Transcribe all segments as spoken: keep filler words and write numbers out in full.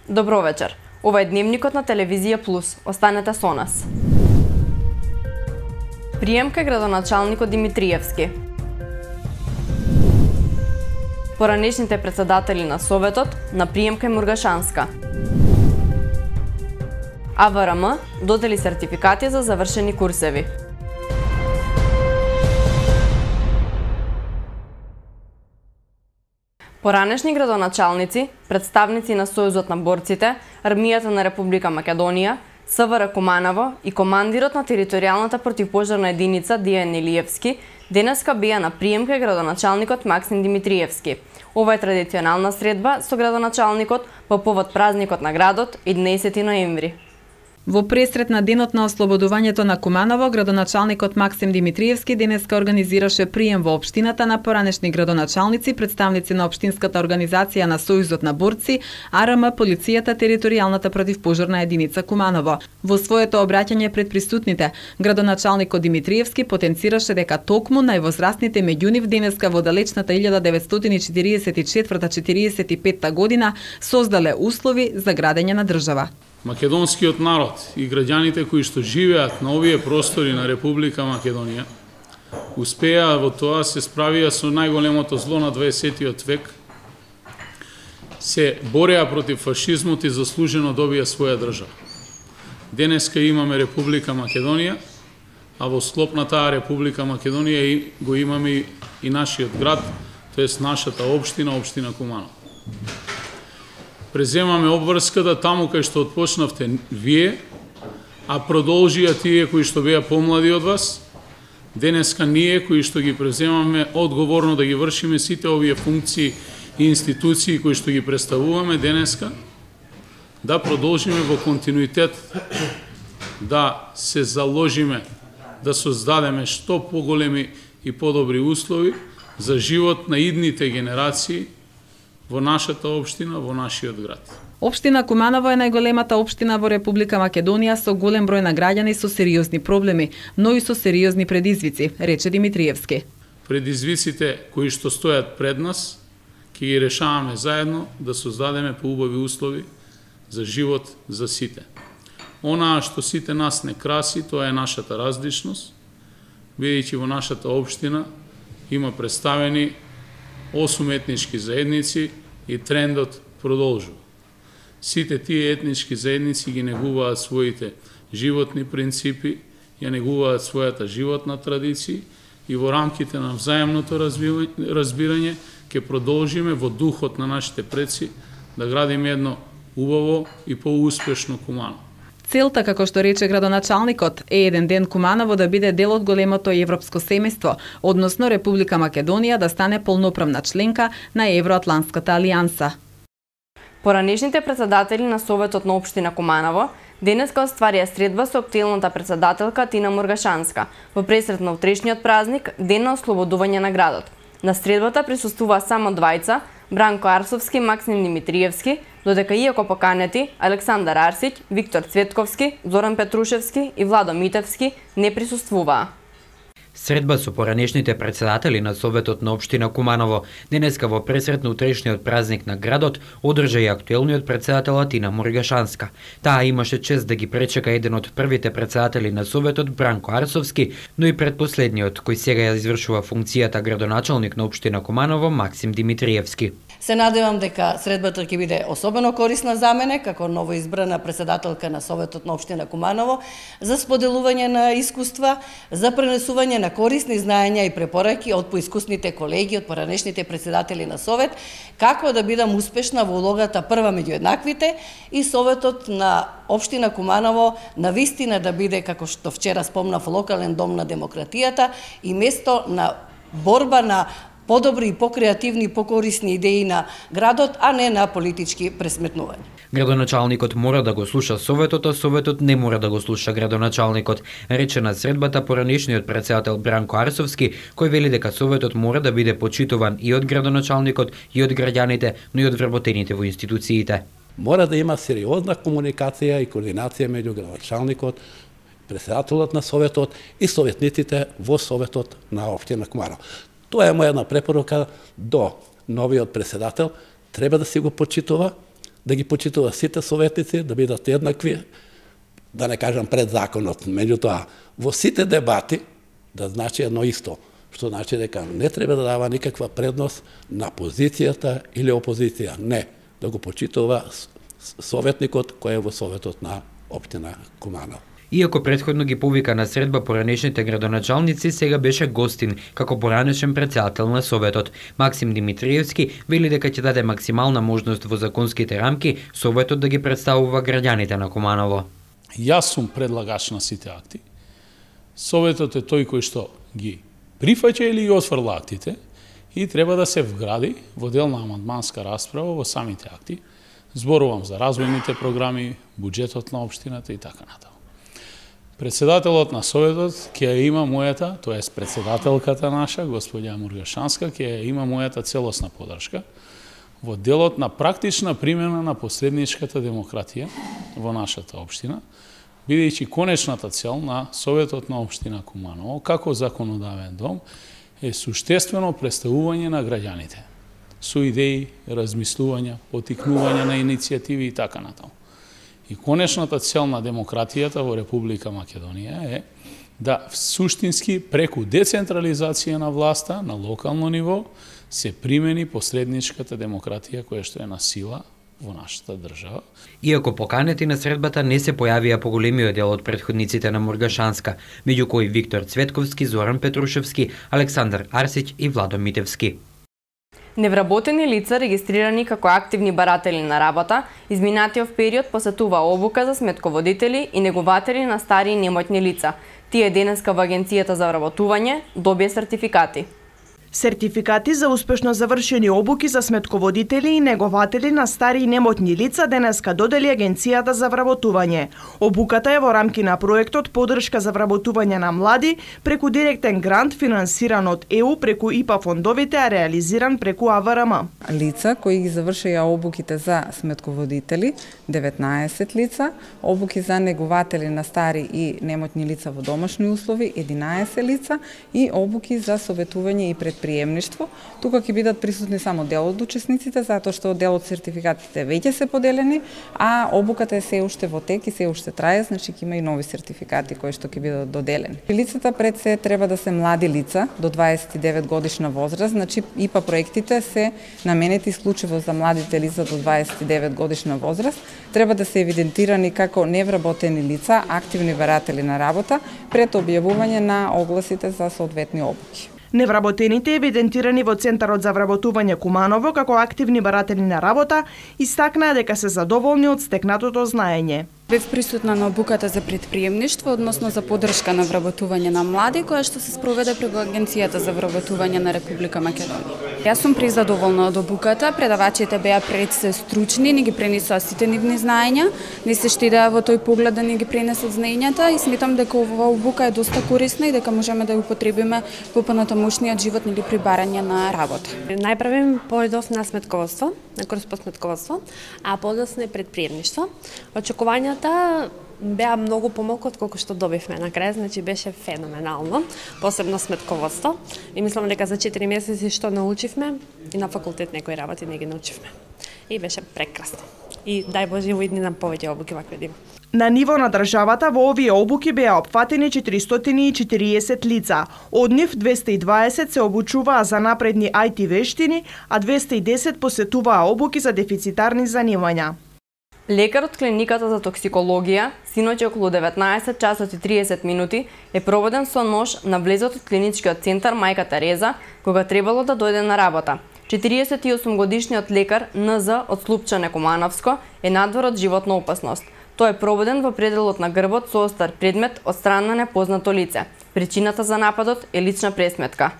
Добро вечер. Ова е дневникот на Телевизија Плюс. Останете со нас. Прием кај градоначалникот Димитриевски. Поранешните председатели на Советот на прием кај Мургашанска. А В Р М додели сертификати за завршени курсеви. Поранешни градоначалници, представници на Сојузот на борците, Армијата на Република Македонија, С В Р Куманово и командирот на територијалната противпожарна единица Дијан Илиевски денеска беа на прием кај градоначалникот Максим Димитриевски. Ова е традиционална средба со градоначалникот по повод празникот на градот еднаесети ноември. Во пресрет на денот на ослободувањето на Куманово, градоначалникот Максим Димитриевски денеска организираше прием во општината на поранешни градоначалници, представници на општинската организација на Сојузот на борци, А Р М, полицијата, територијалната противпожарна единица Куманово. Во своето обраќање пред присутните, градоначалникот Димитриевски потенцираше дека токму највозрастните меѓу нив денеска во далечната илјада деветстотини четиридесет и четврта - четиридесет и петта година создале услови за градење на држава. Македонскиот народ и граѓаните кои што живеат на овие простори на Република Македонија успеа во тоа, се справија со најголемото зло на дваесеттиот век, се бореа против фашизмот и заслужено добија своја држава. Денеска имаме Република Македонија, а во склоп на таа Република Македонија го имаме и нашиот град, тоест нашата општина, општина Куманово. Преземаме обврската таму кај што отпочнавте вие, а продолжија тие кои што беа помлади од вас. Денеска ние кои што ги преземаме одговорно да ги вршиме сите овие функции и институции кои што ги представуваме денеска, да продолжиме во континуитет да се заложиме да создадеме што поголеми и подобри услови за живот на идните генерации во нашата општина, во нашиот град. Општина Куманово е најголемата општина во Република Македонија со голем број на граѓани со сериозни проблеми, но и со сериозни предизвици, рече Димитриевски. Предизвиците кои што стојат пред нас, ќе ги решаваме заедно да создадеме поубави услови за живот за сите. Онаа што сите нас не краси, тоа е нашата различност, бидејќи во нашата општина има представени осум етнички заедници и трендот продолжува. Сите тие етнички заедници ги негуваат своите животни принципи, ја негуваат својата животна традиција и во рамките на взаемното разбирање ќе продолжиме во духот на нашите предци да градиме едно убаво и поуспешно Куманово. Целта, како што рече градоначалникот, е еден ден Куманово да биде дел од големото европско семејство, односно Република Македонија да стане полноправна членка на Евроатлантската алијанса. Поранешните председатели на Советот на општина Куманово денеска остварија средба со актуелната председателка Тина Мургашанска во пресрет на утрешниот празник, ден на ослободување на градот. На средбата присуствува само двајца, Бранко Арсовски, Максим Димитриевски, додека иако поканети Александар Арсиќ, Виктор Цветковски, Зоран Петрушевски и Владо Митевски не присуствуваа. Средба со поранешните председатели на Советот на општина Куманово денеска во пресрет на утрешниот празник на градот одржа и актуелниот председател Тина Мургашанска. Таа имаше чест да ги пречека еден од првите председатели на Советот Бранко Арсовски, но и предпоследниот кој сега ја извршува функцијата градоначалник на општина Куманово Максим Димитриевски. Се надевам дека средбата ќе биде особено корисна за мене, како новоизбрана председателка на Советот на општина Куманово, за споделување на искуства, за пренесување на корисни знаења и препораки од поискусните колеги, од поранешните председатели на Совет, како да бидам успешна во улогата прва меѓу еднаквите и Советот на општина Куманово на вистина да биде, како што вчера спомнав, локален дом на демократијата и место на борба на подобри и покреативни и покорисни идеи на градот, а не на политички пресметнувања. Градоначалникот мора да го слуша Советот, а Советот не мора да го слуша градоначалникот, рече на средбата поранешниот председател Бранко Арсовски, кој вели дека Советот мора да биде почитуван и од градоначалникот, и од граѓаните, но и од вработените во институциите. Мора да има сериозна комуникација и координација меѓу градоначалникот, председателот на Советот и советниците во Советот на општина Куманово. Тоа е моја една препорака до новиот председател, треба да си го почитува, да ги почитува сите советници, да бидат еднакви, да не кажам пред законот, меѓутоа во сите дебати да значи едно исто, што значи дека не треба да дава никаква предност на позицијата или опозиција, не, да го почитува советникот кој е во советот на општина Куманово. Иако претходно ги повика на средба поранешните градоначалници, сега беше гостин како поранешен председател на Советот. Максим Димитриевски вели дека ќе даде максимална можност во законските рамки Советот да ги представува граѓаните на Куманово. Јас сум предлагач на сите акти. Советот е тој кој што ги прифаќа или ги отфрла актите и треба да се вгради во дел на амандманска расправа во самите акти. Зборувам за развојните програми, буџетот на општината и така натаму. Председателот на Советот ќе има мојата, тоест председателката наша, господја Мургашанска, ќе има мојата целосна подршка во делот на практична примена на посредничката демократија во нашата општина, бидејќи конечната цел на Советот на општина Куманово, како законодавен дом, е суштествено представување на граѓаните, со идеи, размислувања, потикнување на иницијативи и така натаму. И конечната цел на демократијата во Република Македонија е да суштински преку децентрализација на власта на локално ниво се примени посредничката демократија која што е на сила во нашата држава. Иако поканети на средбата не се појавија поголемиот дел од претходниците на Мургашанска, меѓу кои Виктор Цветковски, Зоран Петрушевски, Александар Арсиќ и Владо Митевски. Невработени лица регистрирани како активни баратели на работа, изминатиот период посетува обука за сметководители и негователи на стари и немотни лица. Тие денеска во Агенцијата за вработување добија сертификати. Сертификати за успешно завршени обуки за сметководители и негователи на стари и немотни лица денеска додели Агенцијата за вработување. Обуката е во рамки на проектот Подршка за вработување на млади преку директен грант финансиран од Е У преку И П А фондовите, а реализиран преку А В Р М. Лица кои ги завршија обуките за сметководители, деветнаесет лица, обуки за негователи на стари и немотни лица во домашни услови, единаесет лица и обуки за советување и предприемништво. Тука ќе бидат присутни само дел од учесниците, затоа што дел од сертификатите веќе се поделени, а обуката е се уште во тек и се уште трае, значи ќе има и нови сертификати кои што ќе бидат доделени. Лицата пред се треба да се млади лица до дваесет и девет годишна возраст, значи И П А проектите се наменети исклучиво за младите лица до дваесет и девет годишна возраст, треба да се евидентирани како невработени лица, активни баратели на работа пред објавување на огласите за соодветни обуки. Невработените евидентирани во Центарот за вработување Куманово како активни баратели на работа истакнаа дека се задоволни од стекнатото знаење. Бев присутна на обуката за предприемништво, односно за подршка на вработување на млади, која што се спроведе преку Агенцијата за вработување на Република Македонија. Јас сум презадоволна од обуката, предавачите беа пред се стручни, ни ги пренесоа сите нивни знаења, не се штедеа во тој поглед да ни ги пренесат знаењата и сметам дека оваа обука е доста корисна и дека можеме да ја употребиме во понатамошниот живот или при барање на работа. Најпрвен појдов на сметководство, на курс по сметководство, а подоцна е предприемништво. Очекувањата беа многу помалку од колку што добивме на крај, значи беше феноменално, посебно сметководство. И мислам дека за четири месеци што научивме и на факултет некои работи не ги научивме. И беше прекрасно. И дај Боже во иднина повеќе обуки вакви да има. На ниво на државата во овие обуки беа опфатени четиристотини и четириесет лица. Од нив двесте и дваесет се обучуваа за напредни ај ти вештини, а двесте и десет посетуваа обуки за дефицитарни занимања. Лекар од клиниката за токсикологија, синоќ околу деветнаесет часот и триесет минути, е проводен со нож на влезот од клиничкиот центар Мајка Тереза, кога требало да дојде на работа. четириесет и осум годишниот лекар Н З од Слупчане Кумановско е надвор од животна опасност. Тој е проводен во пределот на грбот со остар предмет од страна на непознато лице. Причината за нападот е лична пресметка.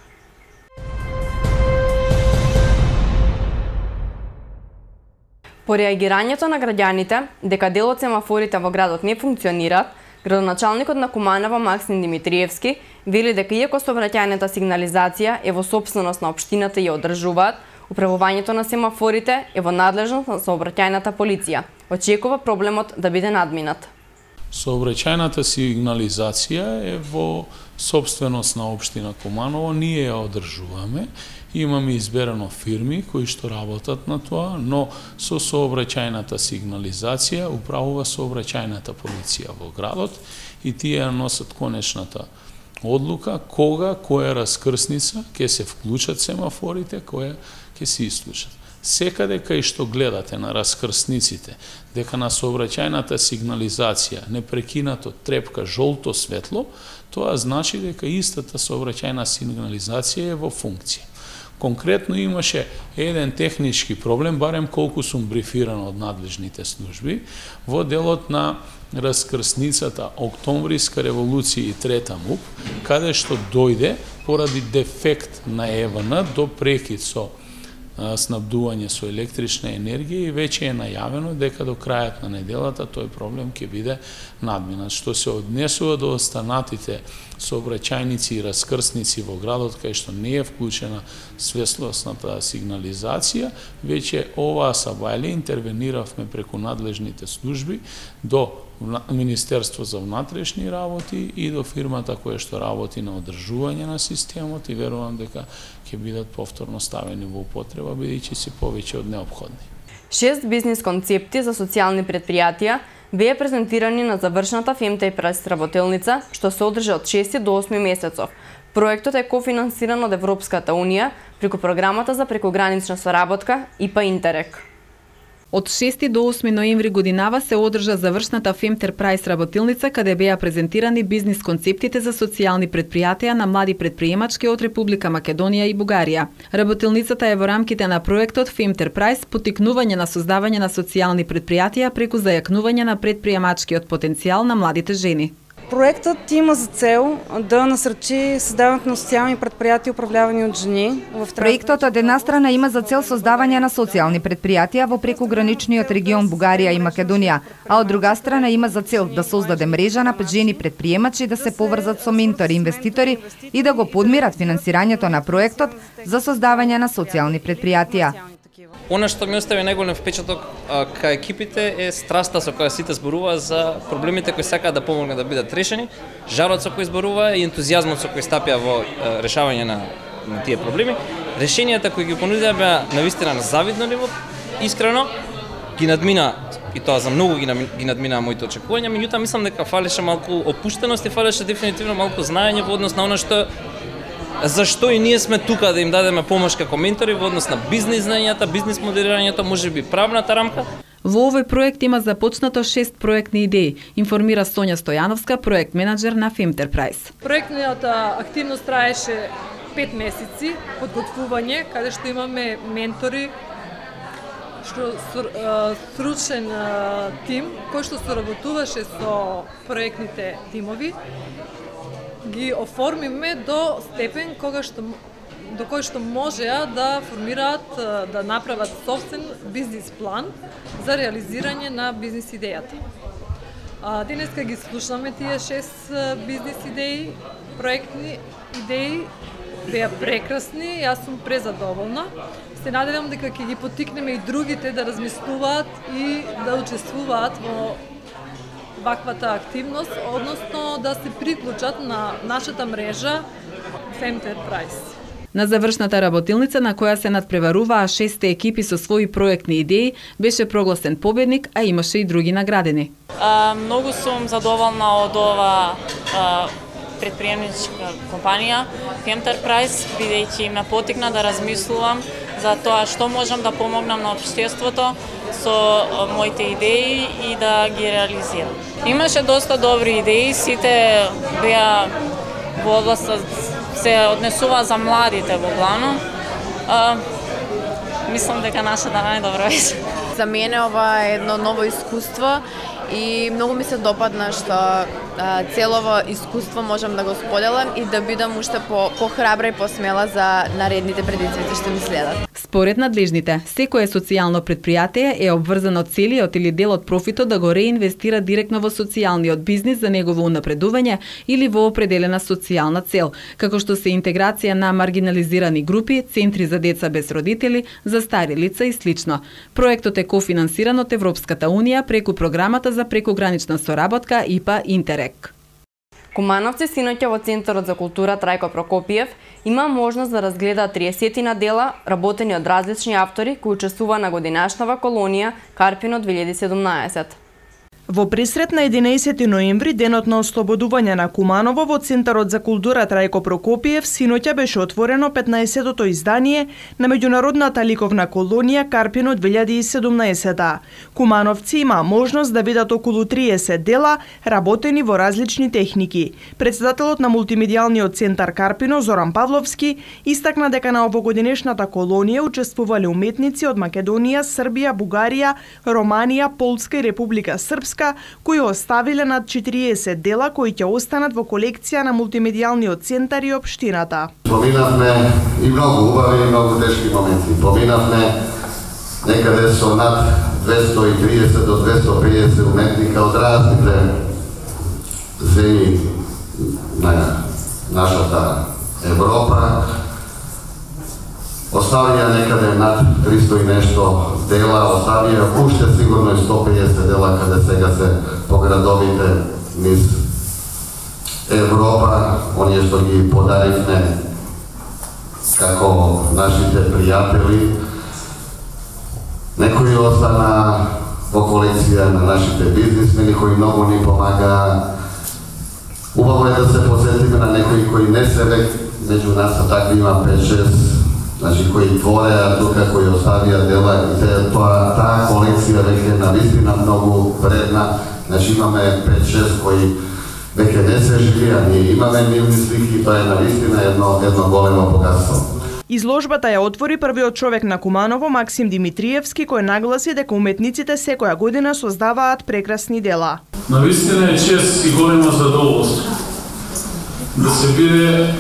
По реагирањето на граѓаните дека дел од семафорите во градот не функционираат, градоначалникот на Куманово Максим Димитриевски вели дека иако сообраќајната сигнализација е во сопственост на општината и ја одржуваат, управувањето на семафорите е во надлежност на сообраќајната полиција. Очекува проблемот да биде надминат. Сообраќајната сигнализација е во сопственост на општина Куманово, ние ја одржуваме Имаме изберано фирми кои што работат на тоа, но со сообраќајната сигнализација управува сообраќајната полиција во градот и тие носат конечната одлука кога, која раскрсница ќе се вклучат семафорите, која ќе се исклучат. Секаде кај што гледате на раскрсниците дека на сообраќајната сигнализација непрекинато трепка жолто светло, тоа значи дека истата сообраќајна сигнализација е во функција. Конкретно имаше еден технички проблем, барем колку сум брифиран од надлежните служби, во делот на раскрсницата Октомвриска револуција и Трета МУП, каде што дојде поради дефект на Е В Н до прекид со снабдување со електрична енергија и веќе е најавено дека до крајот на неделата тој проблем ќе биде надминат. Што се однесува до останатите сообраќајници и раскрсници во градот кај што не е вклучена светлосната сигнализација, веќе оваа сабајле интервениравме преку надлежните служби до Министерство за внатрешни работи и до фирмата која што работи на одржување на системот и верувам дека ќе бидат повторно ставени во употреба, бидејќи се повеќе од неопходни. Шест бизнис концепти за социјални предпријатија беа презентирани на завршната Femtech Prize работелница, што се одржа од шести до осми месецов. Проектот е кофинансиран од Европската Унија преку програмата за прекогранична соработка И П А Интерек. Од шести до осми ноември годинава се одржа завршната Femtech Prize работилница, каде беа презентирани бизнис концептите за социјални предпријатија на млади предприемачки од Република Македонија и Бугарија. Работилницата е во рамките на проектот Femtech Prize поттикнување на создавање на социјални предпријатија преку зајакнување на предприемачкиот потенцијал на младите жени. Проектът има за цел да насръчи създаването на социални предприятия, управлявани от жени. Проектот од една страна има за цел создавање на социјални предпријатија во прекограничниот регион Бугарија и Македонија, а од друга страна има за цел да создаде мрежа на жени предприемачи да се поврзат со ментори инвеститори и да го подмират финансирањето на проектот за создавање на социјални предпријатија. Она што ми остави најголем впечаток кај екипите е страста со која сите зборува за проблемите кои сакаат да помогнат да бидат решени, жарот со кој зборува и ентузијазмот со кој стапија во решавање на, на тие проблеми. Решенијата кои ги понудија беа навистина на завидно ниво, искрено ги надмина и тоа за многу ги, ги надмина моите очекувања, меѓутоа мислам дека фалеше малку опуштеност и фалеше дефинитивно малку знаење во однос на она што зашто и ние сме тука да им дадеме помош како ментори во однос на бизнис знаењата, бизнис моделирањето, можеби правната рамка. Во овој проект има започнато шест проектни идеи, информира Сонја Стојановска, проект менаџер на Femtech Prize. Проектната активност траеше пет месеци, подготвување, каде што имаме ментори, што стручен тим кој што соработуваше со проектните тимови. Ги оформиме до степен кога што до кој што можеа да формираат, да направат собствен бизнис план за реализирање на бизнис идејата. Денеска ги слушаме тие шест бизнис идеи, проектни идеи, беа прекрасни, јас сум презадоволна. Се надевам дека ќе ги поттикнеме и другите да размислуваат и да учествуваат во ваквата активност, односно да се приклучат на нашата мрежа Femtech Prize. На завршната работилница на која се надпреваруваа шесте екипи со своји проектни идеи, беше прогласен победник, а имаше и други наградени. А, многу сум задоволна од ова а, предприемничка компанија Femtech Prize, бидејќи ме поттикна да размислувам за тоа што можам да помогнам на општеството со моите идеи и да ги реализирам. Имаше доста добри идеи, сите беа во областа, се однесува за младите во главно. А, мислам дека нашата најдобра беше. За мене ова е едно ново искуство и многу ми се допадна што целово искуство можам да го споделам и да бидам уште по похрабра и посмела за наредните предизвици што ми следат. Според надлежните, секое социјално предпријатие е обврзано целиот или дел од профитот да го реинвестира директно во социјалниот бизнис за негово унапредување или во определена социјална цел, како што се интеграција на маргинализирани групи, центри за деца без родители, за стари лица и слично. Проектот е кофинансиран од Европската Унија преку програмата за прекогранична соработка И П А Интерек. Кумановци синоќа во Центарот за култура Трајко Прокопиев има можност да разгледаат триесет дела работени од различни автори кои учествува на годинашнава колонија Карпино две илјади и седумнаесет. Во пресрет на единаесети ноември, денот на ослободување на Куманово, во Центарот за култура Трајко Прокопиев, синоќа беше отворено петнаесетото издание на меѓународната ликовна колонија Карпино две илјади и седумнаесет. Кумановци има можност да видат околу триесет дела, работени во различни техники. Председателот на мултимедијалниот центар Карпино, Зоран Павловски, истакна дека на овогодинешната колонија учествувале уметници од Македонија, Србија, Бугарија, Романија, Полска и Република Српска, кои оставиле над четириесет дела кои ќе останат во колекција на мултимедијалниот центар и општината. Поминавме и многу убави и многу тешки моменти. Поминавме некаде со над двесто и триесет до двесто и педесет уметника од разните земји на нашата Европа. Оставија некаде над триста и нешто дела, оставија уште сигурно и сто и педесет дела каде сега се по градовите низ Европа, оние што ги подаривме како нашите пријатели. Некои остана во колекција на нашите бизнисмени кои многу ни помагаа. Убаво е да се посетиме на некои кои не се век меѓу нас, а такви има пет-шест, значи кои твореа тука, кои оставија дела, и те, тоа, таа колекција веќе е навистина многу вредна. Значи имаме пет-шест кои веќе не се живија, ние имаме нивни слики, тоа е навистина едно, едно големо богатство. Изложбата ја отвори првиот човек на Куманово, Максим Димитриевски, кој нагласи дека уметниците секоја година создаваат прекрасни дела. Навистина е чест и големо задоволство да се биде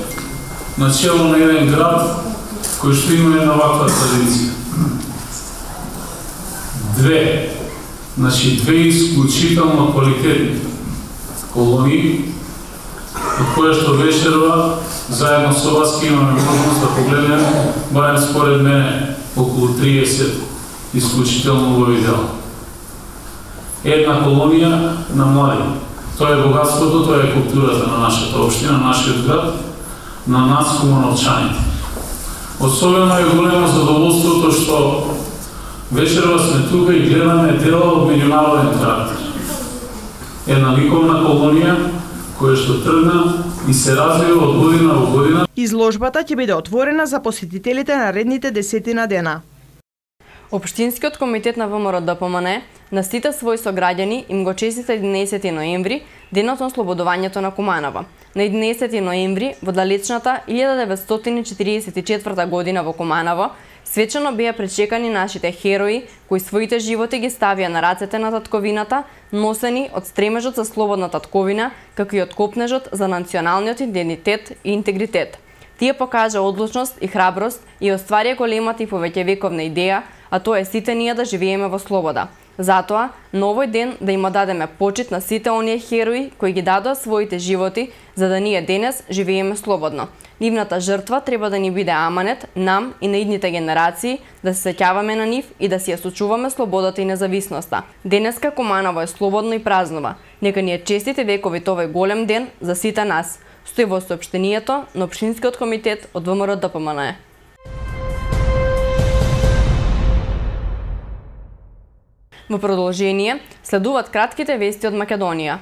начело на еден град кој што има една ваква традиција. Две, значи две исклучително квалитетни колонии, од која што вечерва заедно со вас ќе имаме можност да погледнеме, барем според мене, околу триесет исклучително убави дела. Една колонија на млади. Тоа е богатството, тоа е културата на нашата општина, на нашиот град, на нас кумановчаните. Особено е големо задоволството што вечерва сме тука и гледаме дела од меѓународен карактер. Една ликовна колонија која што тргна и се развива од година во година. Изложбата ќе биде отворена за посетителите наредните десетина дена. Општинскиот комитет на ВМРО-ДПМН на сите своји сограѓани им го честита единаесети ноември, денот на ослободувањето на Куманово. На единаесети ноември, во далечната илјада деветстотини четиридесет и четврта година во Куманово, свечено беа пречекани нашите херои, кои своите животи ги ставија на рацете на татковината, носени од стремежот за слободна татковина, како и од копнежот за националниот идентитет и интегритет. Тие покажа одлучност и храброст и остварија големата и повеќевековна идеја, а тоа е сите ние да живееме во слобода. Затоа, на овој ден да им дадеме почит на сите оние херои кои ги дадоа своите животи за да ние денес живееме слободно. Нивната жртва треба да ни биде аманет, нам и на идните генерации, да се сеќаваме на нив и да си ја сочуваме слободата и независноста. Денеска Куманово е слободно и празнува. Нека ни е честите векови овој голем ден за сите нас. Стои во соопштението на Општинскиот комитет од ВМРО-ДПМН. Во продолжение, следуваат кратките вести од Македонија.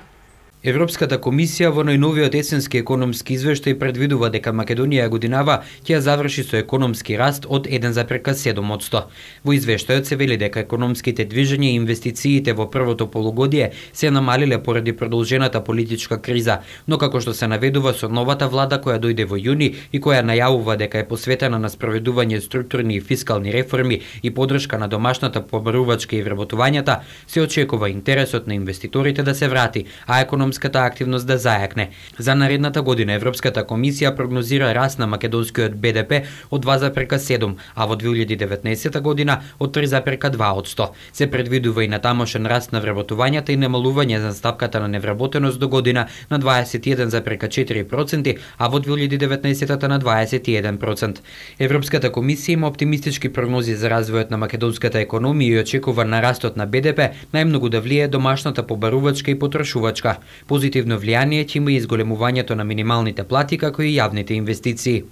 Европската комисија во најновиот есенски економски извештај предвидува дека Македонија годинава ќе ја заврши со економски раст од еден зарез седум одсто. Во извештајот се вели дека економските движења и инвестициите во првото полугодие се намалиле поради продолжената политичка криза, но како што се наведува со новата влада која дојде во јуни и која најавува дека е посветена на спроведување структурни и фискални реформи и подршка на домашната побарувачка и вработувањата, се очекува интересот на инвеститорите да се врати, а економската активност да зајакне. За наредната година Европската комисија прогнозира раст на македонскиот Б Д П од два зарез седум, а во две илјади и деветнаесета година од три зарез два одсто. Се предвидува и натамошен раст на вработувањата и намалување за стапката на невработеност до година на дваесет и еден зарез четири проценти, а во две илјади и деветнаесета на дваесет и еден процент. Европската комисија има оптимистички прогнози за развојот на македонската економија и очекува на растот на Б Д П најмногу да влие домашната побарувачка и потрошувачка. Позитивно влијание ќе има и изголемувањето на минималните плати како и јавните инвестиции.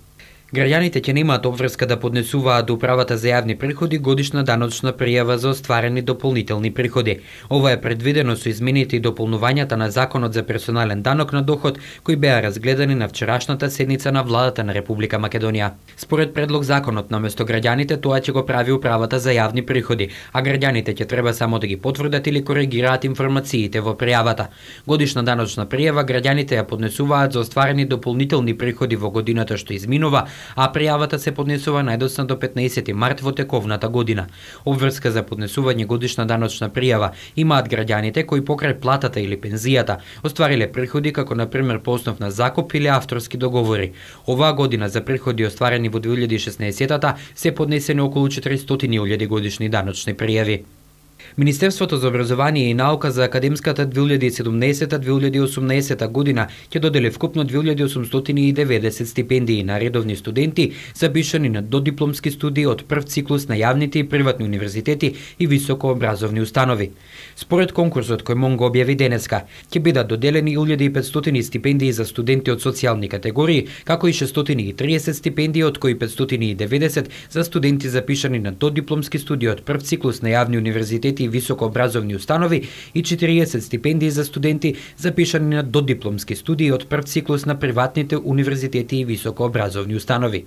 Граѓаните ќе немаат обврска да поднесуваат до Управата за јавни приходи годишна даночна пријава за остварени дополнителни приходи. Ова е предвидено со измените и дополнувањата на Законот за персонален данок на доход, кои беа разгледани на вчерашната седница на владата на Република Македонија. Според предлог законот, наместо граѓаните тоа ќе го прави Управата за јавни приходи, а граѓаните ќе треба само да ги потврдат или коригираат информациите во пријавата. Годишна даночна пријава граѓаните ја поднесуваат за остварени дополнителни приходи во годината што изминува, а пријавата се поднесува најдоцна до петнаесети март во тековната година. Обврска за поднесување годишна даночна пријава имаат граѓаните кои покрај платата или пензијата оствариле приходи како на пример по основ на закуп или авторски договори. Оваа година за приходи остварени во две илјади и шеснаесетта се поднесени околу четиристотини илјади годишни даночни пријави. Министерството за образование и наука за академската две илјади и седумнаесетта две илјади и осумнаесетта година ќе додели вкупно две илјади осумстотини и деветдесет стипендии на редовни студенти запишани на додипломски студии од прв циклус на јавните и приватни универзитети и високообразовни установи. Според конкурсот кој МОН го објави денеска, ќе бидат доделени илјада и петстотини стипендии за студенти од социјални категории, како и шестстотини и триесет стипендии, од кои петстотини и деветдесет за студенти запишани на додипломски студии од прв циклус на јавни универзитети и високообразовни установи и четириесет стипендии за студенти запишани на додипломски студии од прв циклус на приватните универзитети и високообразовни установи.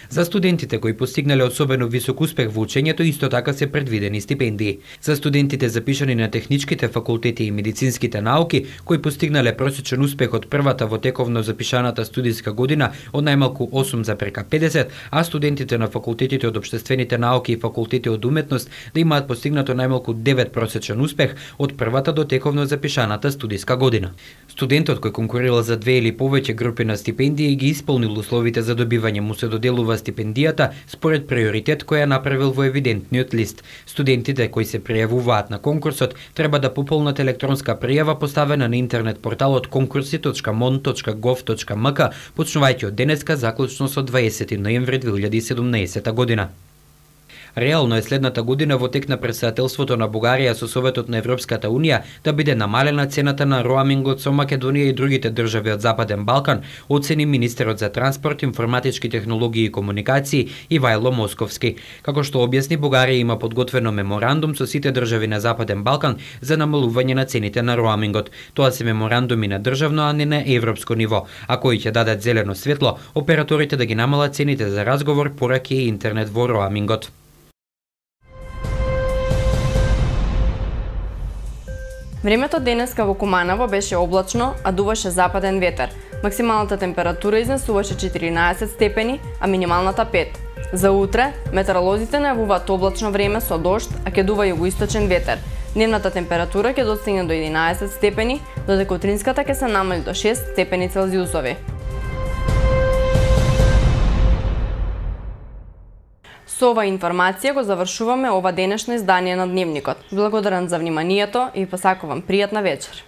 За студентите кои постигнале особено висок успех во учењето исто така се предвидени стипендии. За студентите запишани на техничките факултети и медицинските науки кои постигнале просечен успех од првата во тековно запишаната студиска година од најмалку осум запрека педесет, а студентите на факултетите од општествените науки и факултети од уметност да имаат постигнато најмалку девет просечен успех од првата до тековно запишаната студиска година. Студентот кој конкурирал за две или повеќе групи на стипендии ги исполнил условите за добивање, му се доделува стипендијата според приоритет кој ја направил во евидентниот лист. Студентите кои се пријавуваат на конкурсот треба да пополнат електронска пријава поставена на интернет порталот конкурси точка мон точка гов точка ем ка почнувајќи од денеска заклучно со дваесети ноември две илјади и седумнаесетта година. Реално е следната година во тек на претседателството на Бугарија со Советот на Европската Унија да биде намалена цената на роамингот со Македонија и другите држави од Западен Балкан, оцени министерот за транспорт, информатички технологии и комуникации Ивајло Московски. Како што објасни, Бугарија има подготвено меморандум со сите држави на Западен Балкан за намалување на цените на роамингот. Тоа се меморандуми на државно, а не на европско ниво, а кои ќе дадат зелено светло операторите да ги намалат цените за разговор, пораки и интернет во роамингот. Времето денеска во Куманово беше облачно, а дуваше западен ветер. Максималната температура изнесуваше четиринаесет степени, а минималната пет. За утре, метеоролозите најавуваат облачно време со дожд, а ќе дува југоисточен ветер. Дневната температура ќе достигне до единаесет степени, додека утринската ќе се намали до шест степени Целзиусови. Со ова информација го завршуваме ова денешно издание на Дневникот. Благодарам за вниманието и посакувам пријатна вечер.